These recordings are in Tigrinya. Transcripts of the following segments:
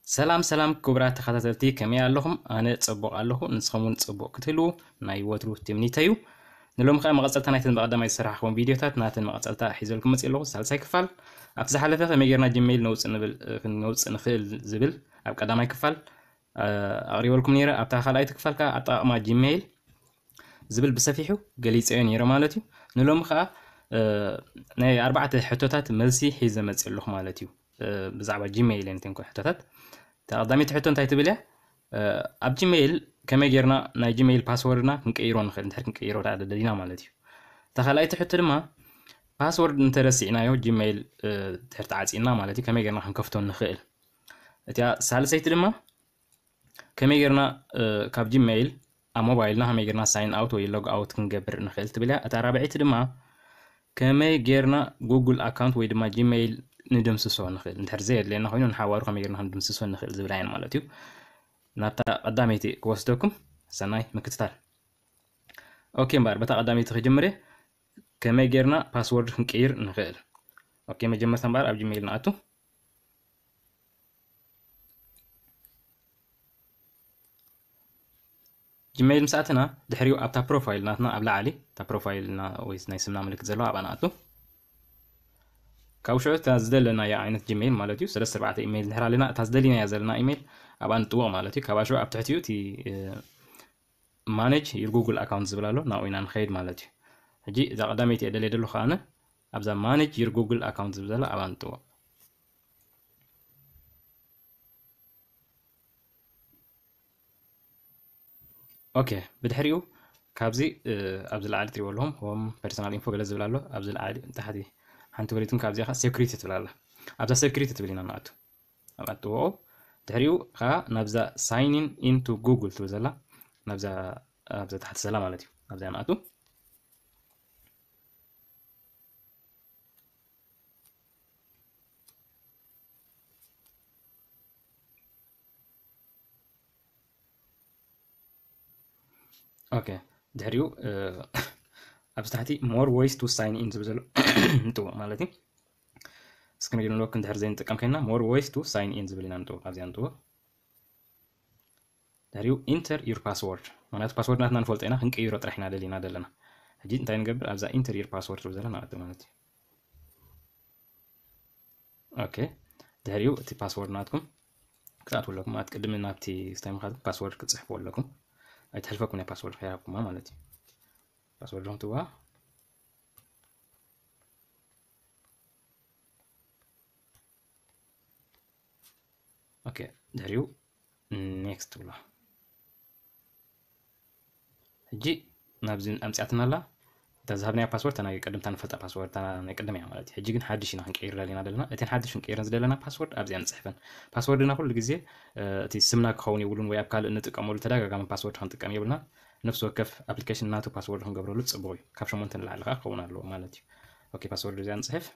ሰላም ሰላም ክቡራት ተኸታተልቲ፣ ከመይ ኣለኹም? ኣነ ጽቡቕ ኣለኹ፣ ንስኹም እውን ጽቡቕ ክትህልዉ ናይ ወትሩ ትምኒተይ እዩ። ንሎሚ ከኣ መቐጸልታ ናይተን ብቐዳማይ ዝሰራሕኹም ቪድዮታት ናተን መቐጸልታ ሒዘልኩም መጽእ ኣለኹ፣ ሳልሳይ ክፋል። ኣብቲ ዝሓለፈ ከመይ ጌርና ጂሜይል ነውጽእ ንብል፣ እ፣ ክንነውጽእ ንኽእል ዝብል ኣብ ቀዳማይ ክፋል፣ እ፣ ኣቕሪበልኩም ነይረ። ኣብታ ካልኣይቲ ክፋል ከኣ ኣጠቓቕማ ጂሜይል ዝብል ብሰፊሑ ገሊጸዮ ነይረ ማለት እዩ። ንሎሚ ከኣ፣ እ፣ ናይ ኣርባዕተ ሕቶታት መልሲ ሒዘ መጽእ ኣለኹ ማለት እዩ። እ፣ ብዛዕባ ጂሜይል እየን እተን ሕቶታት። እታ ቀዳመይቲ ሕቶ እንታይ ትብል እያ? እ፣ ኣብ ጂሜይል ከመይ ጌርና ናይ ጂሜይል ፓስወርድና ክንቀይሮ ንኽእል፣ እንድሕር ክንቀይሮ ደኣ ደሊና ማለት እዩ። እታ ካልኣይቲ ሕቶ ድማ ፓስወርድ እንተረሲዕናዮ ጂሜይል፣ እ፣ እንድሕር ተዓጺና ማለት እዩ፣ ከመይ ጌርና ክንከፍቶ ንኽእል። እቲኣ ሳልሰይቲ ድማ ከመይ ጌርና፣ እ፣ ካብ ጂሜይል ኣብ ሞባይልና ከመይ ጌርና ሳይን ኣውት ወይ ሎግ ኣውት ክንገብር ንኽእል ትብል እያ። እታ ራብዐይቲ ድማ ከመይ ጌርና ጉግል ኣካውንት ወይ ድማ ጂሜይል ንድምስሶ ንኽእል፣ እንድሕር ዘየድልየና ኮይኑ ንሓዋሩ ከመይ ጌርና ክንድምስሶ ንኽእል ዝብላ እየን ማለት እዩ። ናብታ ቀዳመይቲ ክወስደኩም፣ ሰናይ ምክትታል። ኦኬ እምበኣር፣ በታ ቀዳመይቲ ክጅምር እየ። ከመይ ጌርና ፓስወርድ ክንቅይር ንኽእል? ኦኬ፣ መጀመርታ እምበኣር ኣብ ጂሜይል ንኣቱ። ጂሜይል ምስ ኣተና፣ ድሕሪኡ ኣብታ ፕሮፋይል ናትና ኣብ ላዕሊ፣ እታ ፕሮፋይልና ወይ ናይ ስምና ምልክት ዘለዋ ኣብኣ ንኣቱ። ካብ ሽዑ እታ ዝደለናያ ዓይነት ጂሜይል ማለት እዩ፣ ሰለስተ ኣርባዕተ ኢሜይል እንድሕር ኣለና፣ እታ ዝደሊናያ ዘለና ኢሜይል ኣብኣ ንጥውቕ ማለት እዩ። ካብኣ ሽዑ ኣብ ትሕቲኡ እቲ፣ እ፣ ማኔጅ ዩር ጉግል ኣካውንት ዝብል ኣሎ፣ ናብኡ ኢና ንኸይድ ማለት እዩ። ሕጂ እዛ ቀዳመይቲ እየ ደልየ ዘለኹ ኣነ፣ ኣብዛ ማኔጅ ዩር ጉግል ኣካውንት ዝብል ዘሎ ኣብኣ ንጥውቕ። ኦኬ፣ ብድሕሪኡ ካብዚ፣ እ፣ ኣብዚ ላዕሊ ትሪእዎ ኣለኹም፣ ሆም ፐርሰናል ኢንፎ ገለ ዝብል ኣሎ። ኣብዚ ላዕሊ ታሕቲ ሓንቲ ወሪድኩም ካብዚኣ ኸዓ ሴኩሪቲ ትብል ኣላ። ኣብዛ ሴኩሪቲ ትብል ኢና ንኣቱ። ኣብኣ ንጥውቖ። ድሕሪኡ ኸዓ ናብዛ ሳይን ኢን ኢንቱ ጉግል ትብል ዘላ፣ ናብዛ፣ ኣብዛ ታሕቲ ዘላ ማለት እዩ። ኣብዚኣ ንኣቱ። ኦኬ፣ ድሕሪኡ፣ እ፣ ኣብዚ ታሕቲ more ways to sign in ዝብል ዘሎ ንጥውቕ ማለት እዩ። ስክሪን ሎክ እንድሕር ዘይንጥቀም ኮይንና more ways to sign in ዝብል ኢና ንጥውቕ፣ ኣብዚኣ ንጥውቕ። ድሕሪኡ ኢንተር ዩር ፓስወርድ፣ ምኽንያቱ ፓስወርድ ናትና ንፈልጦ ኢና፣ ክንቅይሮ ጥራሕ ኢና ደሊና ዘለና። ሕጂ እንታይ ንገብር? ኣብዛ ኢንተር ዩር ፓስወርድ ዝብል ዘላ ንኣቱ ማለት እዩ። ኦኬ፣ ድሕሪኡ እቲ ፓስወርድ ናትኩም ክትኣትዉ ኣለኩም። ማለት ቅድሚ ናብቲ ስታይ ምኻድኩም ፓስወርድ ክትጽሕፉ ኣለኩም። ኣይትሕልፈኩም ናይ ፓስወርድ ከይሃብኩማ ማለት እዩ። ፓስወርድኩም ትዋ። ኦኬ፣ ድሕሪኡ ኔክስት ትብሎ። ሕጂ ናብዚ ኣምጺኣትና ኣላ። እታ ዝሃብናያ ፓስወርድ፣ እታ ናይ ቅድም፣ እታ ንፈልጣ ፓስወርድ፣ እታ ናይ ቅድም እያ ማለት እዩ። ሕጂ ግን ሓድሽ ኢና ክንቀይር ደሊና ዘለና። እተን ሓድሽ ክንቀይረን ዝደለና ፓስወርድ ኣብዚኣ ንጽሕፈን። ፓስወርድና ኩሉ ግዜ፣ እ፣ እቲ ስምና ክኸውን የብሉን ወይ ኣብ ካልእ እንጥቀመሉ ተደጋጋሚ ፓስወርድ ክንጥቀም የብልና። ነፍሲ ወከፍ ኣፕሊኬሽን ናቱ ፓስወርድ ክንገብረሉ ጽቡቕ እዩ። ካብ ሸሞንተ ንላዕሊ ከኣ ክኸውን ኣለዎ ማለት እዩ። ኦኬ፣ ፓስወርድ እዚኣ ንጽሕፍ።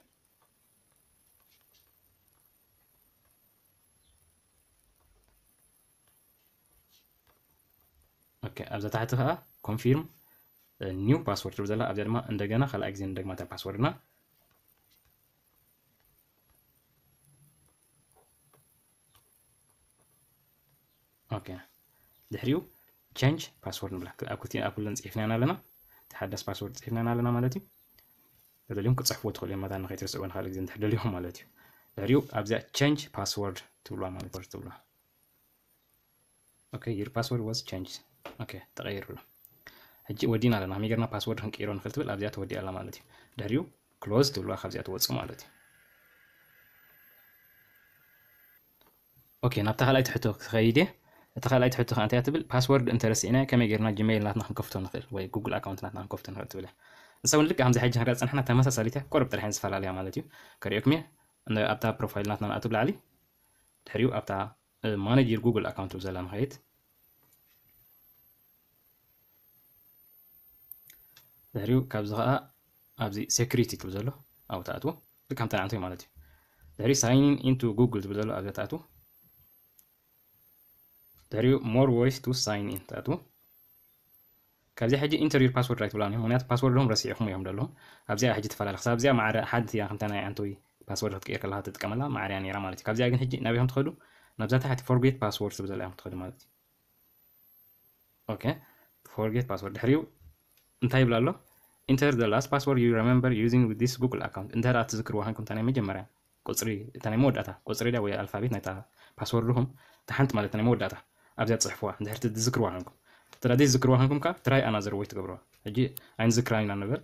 ኦኬ፣ ኣብዛ ታሕቲ ከኣ ኮንፊርም ኒው ፓስወርድ ትብል ዘላ፣ ኣብዚኣ ድማ እንደገና ካልኣይ ግዜ ንደግማ እታ ፓስወርድና። ኦኬ፣ ድሕሪኡ ቸንጅ ፓስወርድ ንብላ። ኣብ ክልቲኤን፣ ኣብ ኩለን ጽሒፍናየን ኣለና። እቲ ሓዳስ ፓስወርድ ጽሒፍናየን ኣለና ማለት እዩ። ተደልዮም ክጽሕፍዎ ትኽእሉ እዮም፣ መታን ንኸይትርስዕዎ ንኻልእ ግዜ እንድሕር ደልዮም ማለት እዩ። ድሕሪኡ ኣብዚኣ ቸንጅ ፓስወርድ ትብልዋ ማለት እዩ፣ ትብልዋ። ኦኬ፣ your password was changed። ኦኬ፣ ተቐይሩ ኣሎ። ሕጂ ወዲና ኣለና። ከመይ ጌርና ፓስወርድ ክንቀይሮ ንኽእል ትብል ኣብዚኣ ተወዲኣ ኣላ ማለት እዩ። ድሕሪኡ ክሎዝ ትብልዋ ካብዚኣ ትወጽእ ማለት እዩ። ኦኬ፣ ናብታ ካልኣይቲ ሕቶ ክኸይድ እየ። እታ ካልኣይቲ ሕቶ ከኣ እንታይ እያ ትብል? ፓስወርድ እንተረሲዕና ከመይ ጌርና ጂሜይል ናትና ክንከፍቶ ንኽእል ወይ ጉግል ኣካውንት ናትና ክንከፍቶ ንኽእል ትብል እያ። ንሳ እውን ልክዕ ከምዚ ሕጂ ክንሪኣ ዝጸናሕና ተመሳሳሊት እያ፣ ቁሩብ ጥራሕ እየን ዝፈላለያ ማለት እዩ። ከርእየኩም እየ። ን-፣ ኣብታ ፕሮፋይል ናትና ንኣቱ ብላዕሊ፣ ድሕሪኡ ኣብታ፣ እ፣ ማኔጅ ዩር ጉግል ኣካውንት ትብል ዘላ ንኸይድ። ድሕሪኡ ካብዚ ኸኣ ኣብዚ ሴኩሪቲ ትብል ዘሎ ኣብኡ ትኣትዉ። ልክዕ ከምታ ንዓንቶይ ማለት እዩ። ድሕሪኡ ሳይን ኢን ኢንቱ ጉግል ትብል ዘሎ ኣብዛ ትኣትዉ። ድሕሪኡ ሞር ዌይስ ቱ ሳይን ኢን ትኣትዉ። ካብዚኣ ሕጂ ኢንተር ዩር ፓስወርድ ኣይትብላን እዮም፣ ምኽንያቱ ፓስወርዶም ረሲዕኹም እዮም ዘለኹም። ኣብዚኣ ሕጂ ትፈላለ። ክሳብ እዚኣ ማዕረ ሓንቲ እያ፣ ከምታ ናይ ዓንቶይ ፓስወርድ ክትቅየር ከለኻ ትጥቀመላ ማዕረ እያ ነይራ ማለት እዩ። ካብዚኣ ግን ሕጂ ናበይ ከም ትኸዱ? ናብዛ ታሕቲ forget password ትብል ዘላ ኢኹም ትኸዱ ማለት እዩ። Okay, forget password ድሕሪኡ እንታይ ይብላ ኣሎ? Enter the last password you remember using with this Google account። እንተ ደኣ ትዝክርዋ ሃንኩም እታ ናይ መጀመርያ ቁጽሪ፣ እታ ናይ መወዳእታ ቁጽሪ ድያ ወይ ኣልፋቤት ናይታ ፓስወርድኹም፣ እታ ሓንቲ ማለት ናይ መወዳእታ ኣብዚኣ ትጽሕፍዋ፣ እንድሕር ትዝክርዋ ሃንኩም። እንተ ደኣ ዘይዝክርዋ ሃንኩም ከኣ try another way ትገብርዋ። ሕጂ ኣይንዝክራን ኢና ንበል፣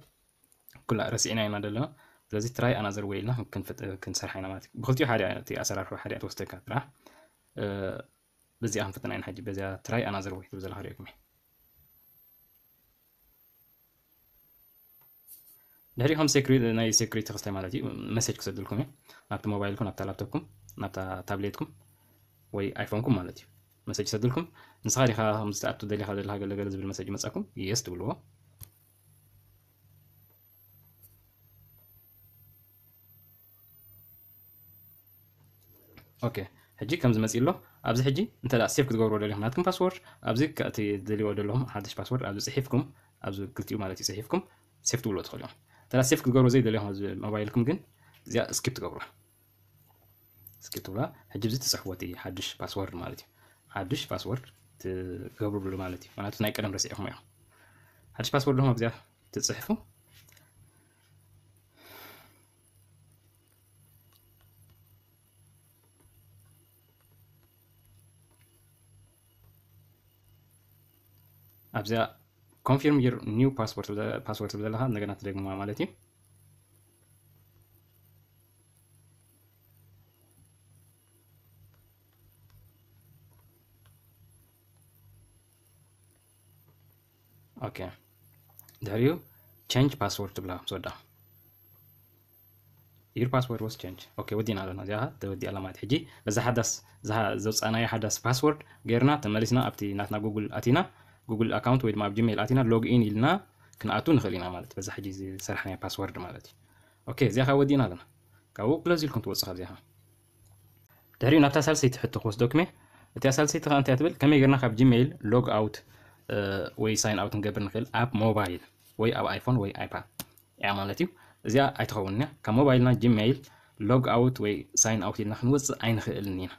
ኩላ ረሲዕና ኢና ዘለና። ስለዚ try another way ኢልና ክንፍጥ-፣ ክንሰርሓ ኢና ማለት እዩ። ብክልቲኡ ሓደ እቲ ኣሰራርሑ ሓደ ትወስደካ ጥራሕ። እ፣ በዚኣ ክንፍትና ኢና ሕጂ፣ በዚኣ try another way ትብል ዘላ ክርእየኩም እየ። ድሕሪኡ ከም security፣ ናይ security ክስታይ ማለት እዩ፣ መሴጅ ክሰድልኩም እዩ። ናብቲ ሞባይልኩም፣ ናብታ ላፕቶፕኩም፣ ናብታ ታብሌትኩም ወይ ኣይፎንኩም ማለት እዩ። መሴጅ ይሰድልኩም። ንስኻ ዲኻ ከምዚ ትኣቱ ደሊኻ ዘለኻ ገለ ገለ ዝብል መሴጅ ይመጸኩም፣ የስ ትብልዎ። ኦኬ፣ ሕጂ ከምዚ መጺእ ኣሎ። ኣብዚ ሕጂ እንተ ደኣ ሴፍ ክትገብርዎ ደሊኹም ናትኩም ፓስወርድ፣ ኣብዚ ከ-፣ እቲ ትደልይዎ ዘለኹም ሓድሽ ፓስወርድ ኣብዚ ጽሒፍኩም፣ ኣብዚ ክልቲኡ ማለት እዩ ጽሒፍኩም ሴፍ ትብልዎ ትኽእሉ እዮም። እንተ ደኣ ሴፍ ክትገብርዎ ዘይደለኹም ኣብዚ ሞባይልኩም ግን እዚኣ ስኪፕ ትገብርዋ። ስኪፕ ትብላ። ሕጂ ኣብዚ ትጽሕፍዎ እቲ ሓድሽ ፓስወርድ ማለት እዩ። ሓድሽ ፓስወርድ ትገብርሉ ማለት እዩ። ምኽንያቱ ናይ ቀደም ረሲዕኹም እዮም። ሓድሽ ፓስወርድ ደሞ ኣብዚኣ ትጽሕፉ። ኣብዚኣ confirm your new password ትብል-፣ ፓስወርድ ትብል ዘለኻ እንደገና ትደግምዋ ማለት እዩ። ኦኬ፣ ድሕሪኡ change password ትብላ ምስ ወዳ። Your password was changed። ኦኬ፣ ወዲና ኣለና። እዚኣ ተወዲኣ ኣላ ማለት። ሕጂ በዛ ሓዳስ፣ እዛ ዘውፃእናያ ሓዳስ ፓስወርድ ገይርና ተመሊስና ኣብቲ ናትና ጉግል ኣቲና፣ ጉግል ኣካውንት ወይ ድማ ኣብ ጂሜይል ኣቲና ሎግ ኢን ኢልና ክንኣቱ ንኽእል ኢና ማለት፣ በዛ ሕጂ ዝሰራሕናያ ፓስወርድ ማለት እዩ። ኦኬ፣ እዚኣ ከዓ ወዲና ኣለና። ካብኡ ክሎዝ ኢልኩም ትወፁ ካብዚኣ። ድሕሪኡ ናብታ ሳልሰይቲ ሕቶ ክወስደኩም እየ። እቲኣ ሳልሰይቲ ከዓ እንታይ ትብል? ከመይ ጌርና ካብ ጂሜይል ሎግ ኣውት፣ እ፣ ወይ ሳይን ኣውት ክንገብር ንኽእል ኣብ ሞባይል ወይ ኣብ ኣይፎን ወይ ኣይፓድ እያ ማለት እዩ። እዚኣ ኣይትኸውን እያ። ካብ ሞባይልና ጂሜይል ሎግ ኣውት ወይ ሳይን ኣውት ኢልና ክንወፅእ ኣይንኽእልን ኢና።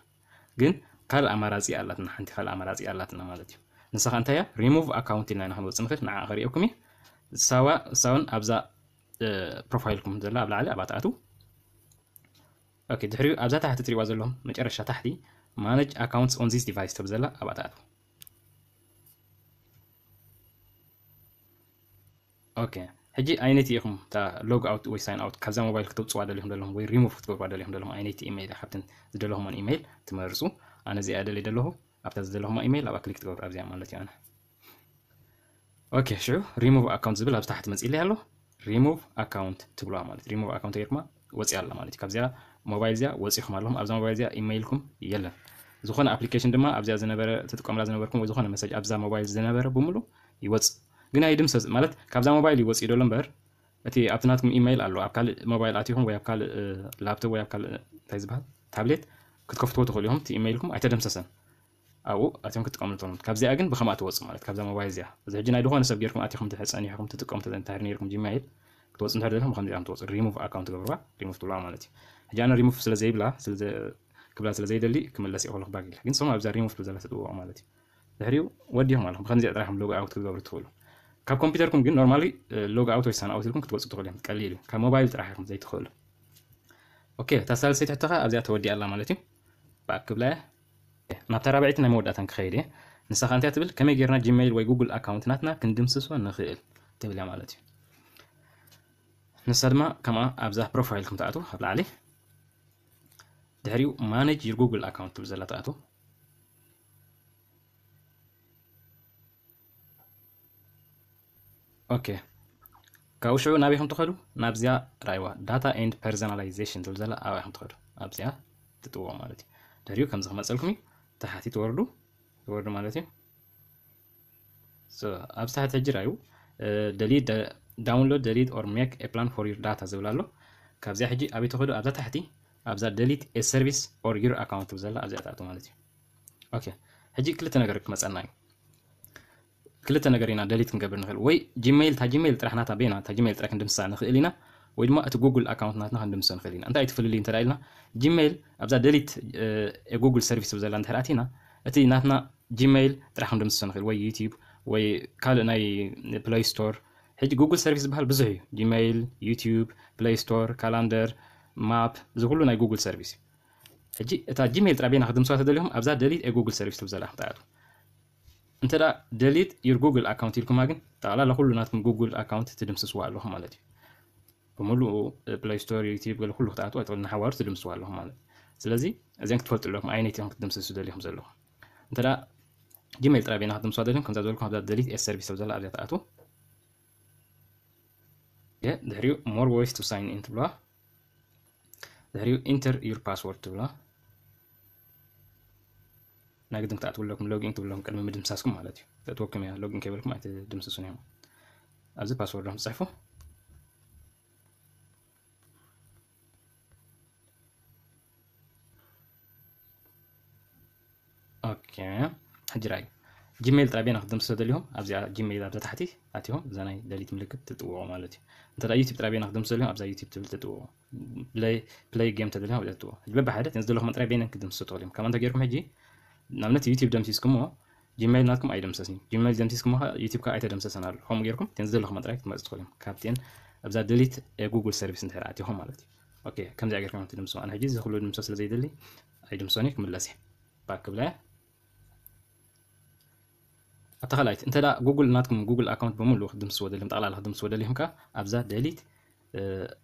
ግን ካልእ ኣማራፂ ኣላትና፣ ሓንቲ ካልእ ኣማራፂ ኣላትና ማለት እዩ። ንሳ ከዓ እንታይ እያ? ሪሙቭ ኣካውንት ኢልና ኢና ክንወፅእ ንኽእል። ንዓ ከርእየኩም እየ። እሳዋ-፣ እሳውን ኣብዛ፣ እ፣ ፕሮፋይልኩም ዘላ ኣብ ላዕሊ ኣብኣ ትኣትዉ። ኦኬ፣ ድሕሪኡ ኣብዛ ታሕቲ ትሪእዋ ዘለኹም መጨረሻ ታሕቲ ማኔጅ ኣካውንትስ ኦን ዚስ ዲቫይስ ትብል ዘላ ኣብኣ ትኣትዉ። ኦኬ፣ ሕጂ ኣይነቲ ኢኹም እታ ሎግ ኣውት ወይ ሳይን ኣውት ካብዛ ሞባይል ክተውፅዋ ደሊኹም ዘለኹም ወይ ሪሙቭ ክትገብርዋ ደሊኹም ዘለኹም ኣይነቲ ኢሜይል እያ። ካብተን ዝደለኹምወን ኢሜይል ትመርፁ። ኣነ እዚኣ ደልየ ደለኹ፣ ኣብታ ዝደለኹማ ኢሜይል ኣብኣ ክሊክ ትገብሩ ኣብዚኣ ማለት እዩ። ኣነ ኦኬ፣ ሽዑ ሪሙቭ ኣካውንት ዝብል ኣብ ታሕቲ መፂእለይ ኣሎ። ሪሙቭ ኣካውንት ትብልዋ ማለት ሪሙቭ ኣካውንት ጌርኩማ ወፂኣ ኣላ ማለት እዩ። ካብዚኣ ሞባይል እዚኣ ወፂኹም ኣለኹም። ኣብዛ ሞባይል እዚኣ ኢሜይልኩም የለን። ዝኾነ ኣፕሊኬሽን ድማ ኣብዚኣ ዝነበረ ትጥቀሙላ ዝነበርኩም ወይ ዝኾነ መሰጅ ኣብዛ ሞባይል ዝነበረ ብምሉእ ይወፅእ። ግን ኣይድምሰስ ማለት ካብዛ ሞባይል ይወፅእ ይደሎ እምበር እቲ ኣብቲ ናትኩም ኢሜይል ኣሎ ኣብ ካልእ ሞባይል ኣቲኹም ወይ ኣብ ካልእ፣ እ፣ ላፕቶፕ ወይ ኣብ ካልእ እንታይ ዝበሃል ታብሌት ክትከፍትዎ ትኽእሉ ኢኹም። እቲ ኢሜይልኩም ኣይተደምሰሰን። ኣብኡ ኣትዮም ክትጥቀምሉ ትኽእሉ። ካብዚኣ ግን ብኸምኣ ትወፁ ማለት ካብዛ ሞባይል እዚኣ። እዚ ሕጂ ናይ ዝኾነ ሰብ ጌርኩም ኣቲኹም እንድሕር ጸኒሕኩም ትጥቀሙ እንተ-፣ እንድሕር ኔርኩም ጂሜይል ክትወፁ እንድሕር ደሊኹም ብኸምዚኣ ትወፁ። ሪሙቭ ኣካውንት ትገብርዋ፣ ሪሙቭ ትብልዋ ማለት እዩ። ሕጂ ኣነ ሪሙቭ ስለ ዘይብላ፣ ስለ ዘ-፣ ክብላ ስለ ዘይደሊ ክምለስ እየ ከለኹ ባግ ኢለ። ግን ንስኹም ኣብዛ ሪሙቭ ትብል ዘላ ትጥውቑ ማለት እዩ። ድሕሪኡ ወዲኹም ኣለኹም። ብኸምዚኣ ጥራሕ ኢኹም ሎግ ኣውት ክትገብሩ ትኽእሉ። ካብ ኮምፒውተርኩም ግን ኖርማሊ፣ እ፣ ሎግ ኣውት ወይ ሳን ኣውት ኢልኩም ክትወፁ ትኽእሉ እዮም። ቀሊል እዩ። ካብ ሞባይል ጥራሕ ኢኹም ዘይትኽእሉ። ኦኬ፣ እታ ሳልሰይቲ ሕቶ ኸኣ ኣብዚኣ ተወዲኣ ኣላ ማለት እዩ። ባክ ክብላ እየ። ናብታ ራብዐይቲ ናይ መወዳእታ ክኸይድ እየ። ንሳ ኸኣ እንታይ ትብል? ከመይ ጌርና ጂሜይል ወይ ጉግል ኣካውንት ናትና ክንድምስሶ ንኽእል? ትብል እያ ማለት እዩ። ንሳ ድማ ከምኣ ኣብዛ ፕሮፋይልኩም ትኣትዉ፣ ኣብ ላዕሊ። ድሕሪኡ ማኔጅ ዩር ጉግል ኣካውንት ትብል ዘላ ትኣትዉ። ኦኬ። ካብኡ ሽዑ ናበይ ኢኹም ትኸዱ? ናብዚኣ ራእይዋ፣ ዳታ ኤንድ ፐርሰናላይዜሽን ትብል ዘላ ኣብኣ ኢኹም ትኸዱ። ኣብዚኣ ትጥውቑ ማለት እዩ። ድሕሪኡ ከምዚ ክመፀልኩም እዩ። ታሕቲ ትወርዱ፣ ትወርዱ ማለት እዩ። So፣ ኣብዚ ታሕቲ ሕጂ ራእዩ፣ እ፣ ደሊት፣ ደ-፣ ዳውንሎድ፣ ደሊት ኦር ሜክ ኤ ፕላን ፎር ዩር ዳታ ዝብል ኣሎ። ካብዚኣ ሕጂ ኣበይ ትኸዱ? ኣብዛ ታሕቲ፣ ኣብዛ ደሊት ኤ ሰርቪስ ኦር ዩር ኣካውንት ትብል ዘላ ኣብዚኣ ትኣትዉ ማለት እዩ። ኦኬ፣ ሕጂ ክልተ ነገር ክመፀና እዩ። ክልተ ነገር ኢና ደሊት ክንገብር ንኽእል። ወይ ጂሜይል፣ እታ ጂሜይል ጥራሕ ናታ በይና፣ እታ ጂሜይል ጥራሕ ክንድምስሳ ንኽእል ኢና። ወይ ድማ እቲ ጉግል ኣካውንት ናትና ክንድምስሶ ንኽእል ኢና። እንታይ ትፍልልዩ እንተ ኢልና፣ ጂሜይል ኣብዛ ደሊት ጉግል ሰርቪስ ብዘላ እንድሕር ኣቲና፣ እቲ ናትና ጂሜይል ጥራሕ ክንድምስሶ ንኽእል፣ ወይ ዩቲዩብ ወይ ካልእ ናይ ፕለይ ስቶር። ሕጂ ጉግል ሰርቪስ ዝበሃል ብዙሕ እዩ። ጂሜይል፣ ዩቲዩብ፣ ፕለይ ስቶር፣ ካላንደር፣ ማፕ፣ እዚ ኩሉ ናይ ጉግል ሰርቪስ እዩ። ሕጂ እታ ጂሜይል ጥራይ በይና ክትድምስዋ ተደሊኹም ኣብዛ ደሊት ጉግል ሰርቪስ ትብል ዘላ ክትኣቱ። እንተ ደሊት ዩር ጉግል ኣካውንት ኢልኩማ ግን ጠቕላላ ኩሉ ናትኩም ጉግል ኣካውንት ትድምስስዋ ኣለኹም ማለት እዩ። ብምሉኡ ፕለይ ስቶር፣ ዩቲዩብ፣ ገለ ኩሉ ክትኣትዎ ኣይትኽእሉ፣ ንሓዋሩ ትድምስዋ ኣለኹም ማለት እዩ። ስለዚ እዚን ክትፈልጡ ኣለኩም፣ ኣየነይቲ ኢኹም ክትድምስሱ ደሊኹም ዘለኹም። እንተ ጂሜይል ጥራይ በይና ክትድምስዋ ደሊኹም፣ ከምዛ ዝበልኩም ኣብዛ ደሊት ኤ ሰርቪስ ኣብ ዘላ ኣብዚኣ ትኣትዉ። ድሕሪኡ more ways to sign in ትብልዋ። ድሕሪኡ ኢንተር ዩር ፓስወርድ ትብልዋ። ናይ ግድን ክትኣትዉ ኣለኩም፣ ሎጊን ትብሉ ኣለኩም ቅድሚ ምድምሳስኩም ማለት እዩ። ተእትወኩም እያ፣ ሎጊን ከይበልኩም ኣይትድምስሱን እዮም። ኣብዚ ፓስወርዶም ትፅሕፉ። ኦኬ፣ ሕጂ ራይ ጂሜይል ጥራይ በይና ክትድምስሶ ደሊኹም ኣብዚኣ ጂሜይል ኣብዛ ታሕቲ ኣቲኹም እዛ ናይ ደሊት ምልክት ትጥውቑ ማለት እዩ። እንተ ዩቲዩብ ጥራይ በይና ክትድምስሶ ደሊኹም ኣብዛ ዩቲዩብ ትብል ትጥውቑ። ፕለይ ጌም ተደሊኹም ኣብዚኣ ትጥውቑ። በብሓደ እተን ዝደለኹም ጥራይ በይነን ክትድምስሶ ትኽእሉ እዮም። ከምኣ እንተ ጌርኩም ሕጂ ንኣብነት ዩቲዩብ ደምሲስኩሞ ጂሜይል ናትኩም ኣይደምሰስን እዩ። ጂሜይል ደምሲስኩሞ ከዓ ዩቲዩብ ከዓ ኣይተደምሰሰን ኣሎ። ከምኡ ጌርኩም እተን ዝደለኹም ጥራይ ክትመርጹ ትኽእሉ እዮም። ካብተን ኣብዛ ደሊት ጉግል ሰርቪስ እንድሕር ኣቲኹም ማለት እዩ። ኦኬ፣ ከምዚኣ ጌርኩም ትድምስሶ። ኣነ ሕጂ እዚ ኩሉ ድምሶ ስለ ዘይደሊ ኣይድምሶን እየ፣ ክምለስ እየ። ባክ ክብለ። ኣብታ ካልኣይቲ እንተ ደኣ ጉግል ናትኩም ጉግል ኣካውንት ብምሉእ ክትድምስዎ ደሊኹም፣ ጠቕላላ ክትድምስዎ ደሊኹም ከኣ ኣብዛ ደሊት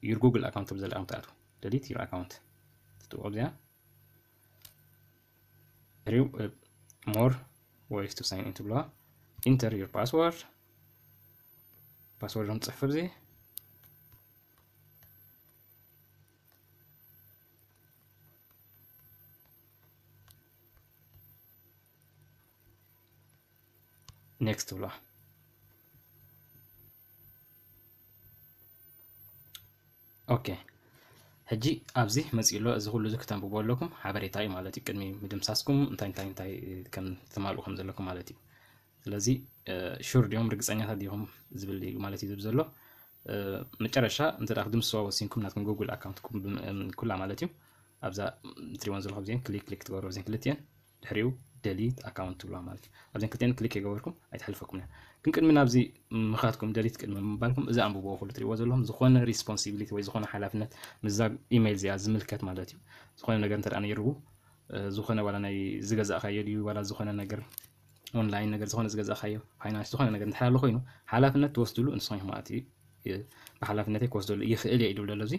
ዩር ጉግል ኣካውንት ትብል ዘላ ኢኹም ትኣትዉ። ደሊት ዩር ኣካውንት ትጥውቑ ኣብዚኣ። ድሕሪኡ more ways to sign in ትብልዋ። ኢንተር ዩር ፓስወርድ፣ ፓስወርዶም ትጽሕፉ ኣብዚ። ኔክስት ትብልዋ። ኦኬ፣ ሕጂ ኣብዚ መጺኡ ኣሎ። እዚ ኩሉ እዚ ክተንብቦ ኣለኩም፣ ሓበሬታ እዩ ማለት እዩ። ቅድሚ ምድምሳስኩም እንታይ እንታይ እንታይ ከም ትማልኡ ከም ዘለኩም ማለት እዩ። ስለዚ ሹር ዲኹም፣ ርግጸኛታት ዲኹም ዝብል እዩ ማለት እዩ ዝብል ዘሎ። መጨረሻ እንተ ደኣ ክትድምስዋ ወሲንኩም ናትኩም ጉግል ኣካውንትኩም ብም-፣ እም፣ ኩላ ማለት እዩ። ኣብዛ እትሪእወን ዘለኹም እዚአን ክሊክ ክሊክ ትገብሩ እዚአን ክልቲአን፣ ድሕሪኡ ደሊት ኣካውንት ትብልዋ ማለት እዩ። ኣብዚአን ክልቲአን ክሊክ የገበርኩም ኣይትሕልፈኩም እያ። ግን ቅድሚ ናብዚ ምኻድኩም ደሊት ቅድሚ ምባልኩም እዚ ኣንብብዎ ኩሉ ትሪእዎ ዘለኹም ዝኾነ ሪስፖንሲቢሊቲ ወይ ዝኾነ ሓላፍነት ምስዛ ኢሜይል እዚኣ ዝምልከት ማለት እዩ። ዝኾነ ነገር እንተ ደኣ ነይሩ እ፣ ዝኾነ ዋላ ናይ ዝገዛእካዮ ድዩ ዋላ ዝኾነ ነገር ኦንላይን ነገር ዝኾነ ዝገዛእካዮ ፋይናንስ ዝኾነ ነገር እንድሕር ኣሎ ኮይኑ ሓላፍነት ትወስድሉ ንስኹም ኢኹም ማለት እዩ። እ፣ ብሓላፍነተይ ክወስደሉ ይኽእል እየ ኢሉ ኣሎ። እዚ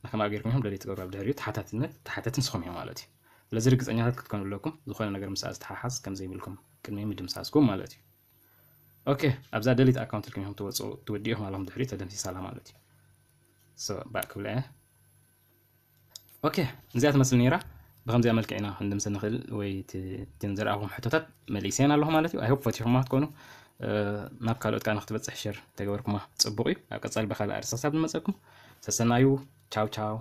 ንከምኣ ጌርኩም ኢኹም ደሊት ትገብሩ ኣብ ድሕሪኡ ተሓታትነት ተሓተቲ ንስኹም ኢኹም ማለት እዩ። ስለዚ ርግጸኛታት ክትኮኑ ኣለኩም ዝኾነ ነገር ምስኣ ዝተሓሓዝ ከም ዘይብልኩም ቅድሚ ምድምሳስኩም ማለት እዩ። ኦኬ፣ ኣብዛ ደሊት ኣካውንት ኢልኩም ኢኹም ትወጽኡ ትወድኡ ኢኹም ኣለኹም ድሕሪኡ ተደምሲሳ ኣላ ማለት እዩ። ሶ ባክ ክብላ እየ። ኦኬ፣ እዚኣ ትመስል ነይራ። ብኸምዚኣ መልክዕ ኢና ክንድምሲ ንኽእል ወይ እቲ፣ እተን ዘርኣኹም ሕቶታት መሊሰን ኣለኹ ማለት እዩ። I hope ፈቲኹማ ክትኮኑ፣ እ፣ ናብ ካልኦት ከኣ ንክትበጽሕ ሸር ተገበርኩማ ጽቡቕ እዩ። ኣብ ቀጻሊ ብኻልእ ኣርእስቲ ክሳብ ንመጸኩም ሰሰናዩ። ቻው ቻው።